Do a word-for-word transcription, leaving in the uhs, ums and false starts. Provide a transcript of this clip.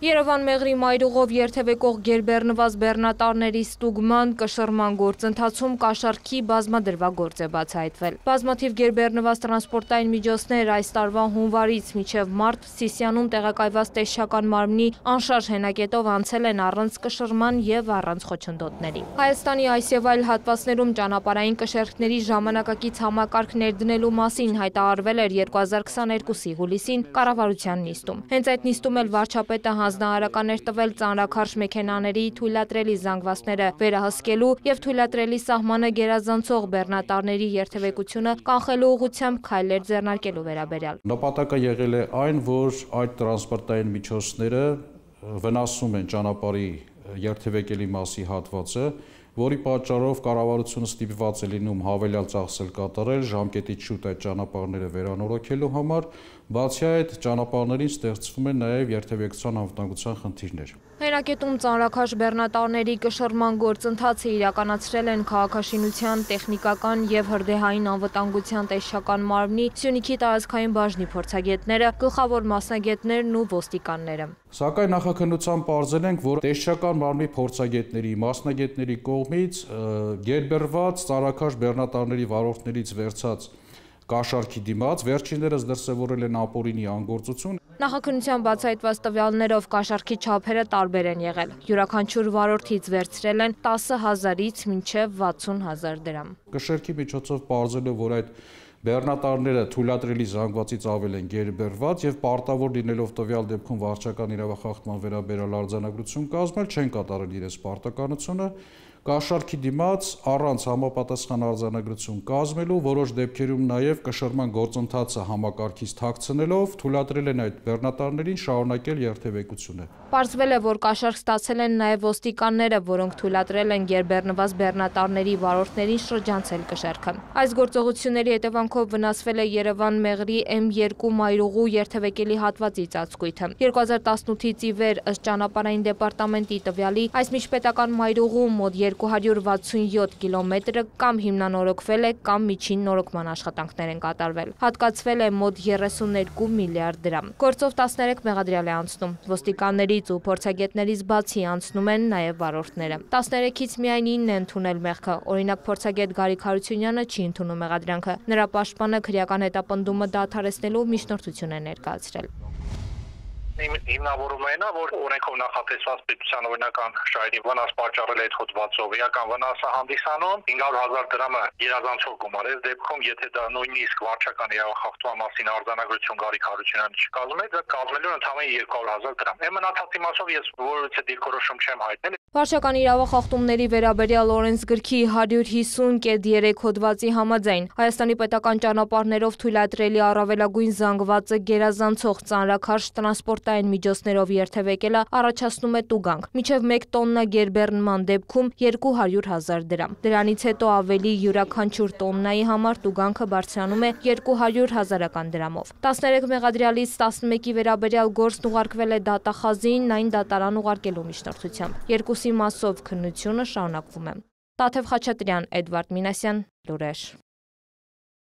Երևան Մեղրի մայրուղով երթևեկող գերբեռնված բեռնատարների ստուգման կշռման գործընթացում կաշառքի բազմադրվագործ է բացահայտվել։ Բազմաթիվ գերբեռնված տրանսպորտային միջոցներ այս տարվա հունվարից մինչև մարտ Սիսիանում տեղակայված տեսչական մարմնի անշարժ հենակետով անցել են առանց կշռման և առանց խոչընդոտների։ Հայաստանի այս և այլ հատվածներում ճանապարհային կշեռքների ժամանակակից համակարգ ներդնելու մասին հայտարարվել էր երկու հազար քսաներկուսի հուլիսին կառավարության նիստում։ Հենց այդ նիստում էլ վարչապետը հանձնարարական էր տվել ծանրաքարշ մեքենաների թույլատրելի զանգվածները վերահսկելու և թույլատրելի սահմանը գերազանցող բեռնատարների երթևեկությունը կանխելու ուղղությամբ քայլեր ձեռնարկելու վերաբերյալ։ Նպատակը եղել է այն, որ այդ տրանսպորտային միջոցները վնասում են ճանապարհի երթևեկելի մասի հատվածը, որի պատճառով կառավարությունը ստիպված է լինում հավելյալ ծախսեր կատարել ժամկետից շուտ այդ ճանապարհները վերանորոգելու համար, բացի այդ ճանապարհներին ստեղծվում են նաև երթևեկության անվտանգության խնդիրներ։ Հենակետում ծանրաքարշ բեռնատարների կշռման գործընթացը իրականացրել են քաղաքաշինության, տեխնիկական և հրդեհային անվտանգության տեսչական մարմնի Սյունիքի տարածքային բաժնի փորձագետները, գլխավոր մասնագետներն ու ոստիկանները։ Սակայն նախաքննությամբ պարզել ենք, որ տեսչական մարմնի փորձագետների, մասնագետների կողմից գերբեռված ծանրաքարշ բեռնատարների վարորդներից վերցած կաշառքի դիմաց վերջիններս դրսևորել են ապօրինի անգործություն։ Նախաքննության բացահայտված տվյալներով կաշառքի չափերը տարբեր են եղել։ Յուրաքանչյուր վարորդից վերցրել են տասը հազարից մինչև վաթսուն հազար դրամ։ Կշեռքի միջոցով պարզելով, որ այդ բեռնատարները թույլատրելի զանգվածից ավել են գերբեռված և պարտավոր լինելով տվյալ դեպքում վարչական իրավախախտման վերաբերյալ արձանագրություն կազմել, չեն կատարել իրենց պարտականությունը, կաշառքի դիմաց առանց համապատասխան արձանագրություն կազմելու, որոշ դեպքերում նաև կշռման գործընթացը համակարգից թաքցնելով թույլատրել են այդ բեռնատարներին շարունակել երթևեկությունը։ Պարզվել է, որ կաշառք ստացել են նաև ոստիկանները, որոնք թույլատրել են գերբեռնված բեռնատարների վարորդներին շրջանցել կշեռքը։ Այս գործողությունների հետևանքով վնասվել է Երևան Մեղրի էմ երկու մայրուղու երթևեկելի հատվածի ծածկույթը։ երկու հազար տասնութից ի վեր ըստ ճանապարհային դեպարտամենտի տվյալի այս միջպետական մայրուղու մոտ երկու հարյուր վաթսունյոթ կիլոմետրը կամ հիմնանորոգվել է, կամ միջին նորոգման աշխատանքներ են կատարվել։ Հատկացվել է մոտ երեսուներկու միլիարդ դրամ։ Գործով տասներեք մեղադրյալ է անցնում։ Ոստիկաններից ու փորձագետներից բացի անցնում են նաև վարորդները։ տասներեքից միայն ինն է ընդունել մեղքը։ Օրինակ փորձագետ Գարիկ Հարությունյանը չի ընդունում մեղադրանքը։ Նրա պաշտպանը քրեական հետապնդումը դադարեցնելու միջնորդություն է ներկայացրել։ Հիմնավորումը այն է, որ օրենքով նախատեսված պետության օրինական շահերի վնաս պատճառել է այդ հոդվածով, էական վնասը հանդիսանում հինգ հարյուր հազար դրամը գերազանցող գումար է, դեպքում եթե դա նույնիսկ վարչական իրավախախտման մասին արձանագրություն Գարիկ Հարությունյանը չկազմել, դա կազմելու է ընդամենը երկու հարյուր հազար դրամ։ Այն մնացածի մասով ես որևէ դիրքորոշում չեմ հայտնել։ Վարչական իրավախախտումների վերաբերյալ օրենսգրքի հարյուր հիսուն կետ երեք հոդվածի համաձայն Հայաստանի պետական ճանապարհներով թույլատրելի առավելագույն զանգվածը գերազանցող ծանրաքարշ տրանսպորտային միջոցներով երթևեկելը առաջացնում է տուգանք։ Մինչև մեկ տոննա գերբեռնման դեպքում երկու հարյուր հազար դրամ։ Դրանից հետո ավելի յուրաքանչյուր տոննայի համար տուգանքը բարձրանում է երկու հարյուր հազարական դրամով։ տասներեք մեղադրյալից տասնմեկի վերաբերյալ գործն ուղարկվել է դատախազին, այն դատարան ուղարկելու միջնորդությամբ։ Երկուսի մասով քննությունը շարունակվում է։ Տաթև Խաչատրյան, Էդվարդ Մինասյան, լուրեր։